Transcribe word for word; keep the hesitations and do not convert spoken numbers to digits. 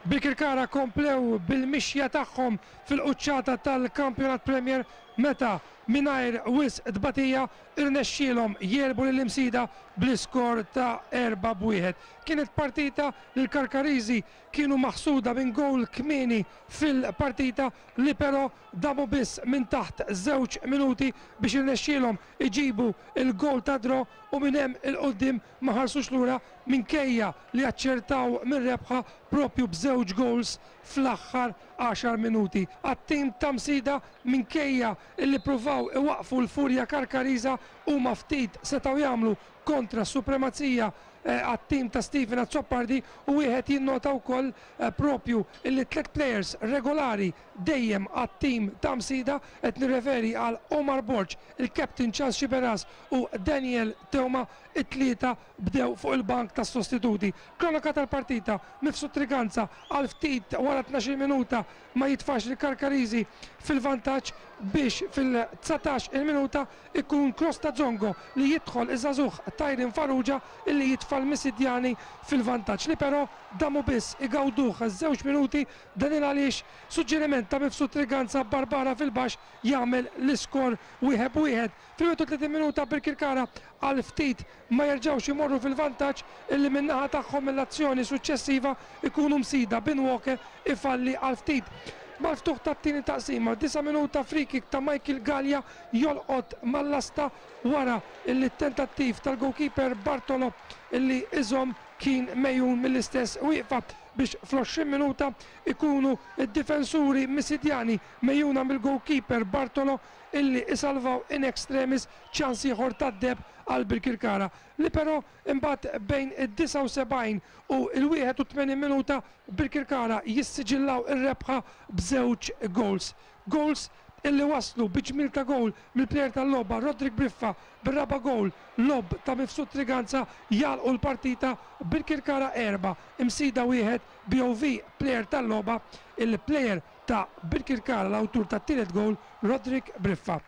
Birkirkara komplew bil-mixja tagħhom fil-quċċata tal-Kampjonat Premier meta mingħajr wisq tbatija irnexxielhom jegħlbu lill-Imsida bl-iskor ta' erba' b'wieħed. Kienet partita li l-Karkariżi kienu maħsuda minn gowl kmieni fil-partita li però damu biss minn taħt żewġ minuti biex irnexxielhom iġibu il-gowl ta' draw u minn hemm 'il quddiem ma ħarsux lura minkejja li aċċertaw mir-rebħa propju b'żewġ goals fl-aħħar għaxar minuti. Għat-tim ta' Msida, minkejja illi pruvaw iwaqfu l-furja Karkariża, huma ftit setgħu jagħmlu kontra s-supremazija għat-tim ta' Steven Azzopardi, u wieħed jinnota wkoll propju illi tliet players regolari dejjem għat-tim ta' Msida, qed nirreferi għal Omar Borg, il-captain Charles Sciberras u Daniel Teuma, it-tlieta bdew fuq il-bank tas sostituti. Kronoka tal-partita: Mifsud Triganza għal ftit wara tnax-il minuta ma jitfax il-Karkariżi fil-vantaġġ biex fil-dsatax il-minuta ikun cross ta' Zongo li jidħol iż-żagħżugħ Tyron Farrugia illi jitfa' l-Misidjani fil-vantaġġ, li però damu biss igawduh żewġ minuti, dan il għaliex suġġeriment ta' Mifsud Triganza, Barbara fil-baxx jagħmel l-iskor wieħed b'wieħed. Fil-wieħed u tletin minuta Birkirkara għal ftit ma jerġgħux imorru fil-vantaġġ illi min-naħa tagħhom mill-azzjoni suċċessiva ikunu Msida bin Walker ifalli għal ftit. Mal-ftuħ tat-tieni taqsima, disa' minuta, free kick ta' Michael Gallia jolqot mal-lasta wara illi tentattiv tal-goalkeeper Bartolo illi iżom kien mejjun mill-istess wieqfa, biex fl-għoxrin minuta ikunu id-difensuri Misidjani mejjuna mill-goalkeeper Bartolo illi isalvaw in extremis ċans ieħor tad-deheb għal Birkirkara, li però imbagħad bejn id-disgħa u sebgħin u il-wieħed u tmenin minuta Birkirkara jissiġillaw ir-rebħa b'żewġ goals. Goals illi waslu bi ġmil ta' goal mill-plejer tal-logħba Rodrik Briffa bir-raba' goal, lob ta' Mifsud Triganza, jagħlqu l-partita Birkirkara erba', Imsida wieħed. B O V plejer tal-logħba, il-plejer ta' Birkirkara, l-awtur tat-tielet goal, Rodrik Briffa.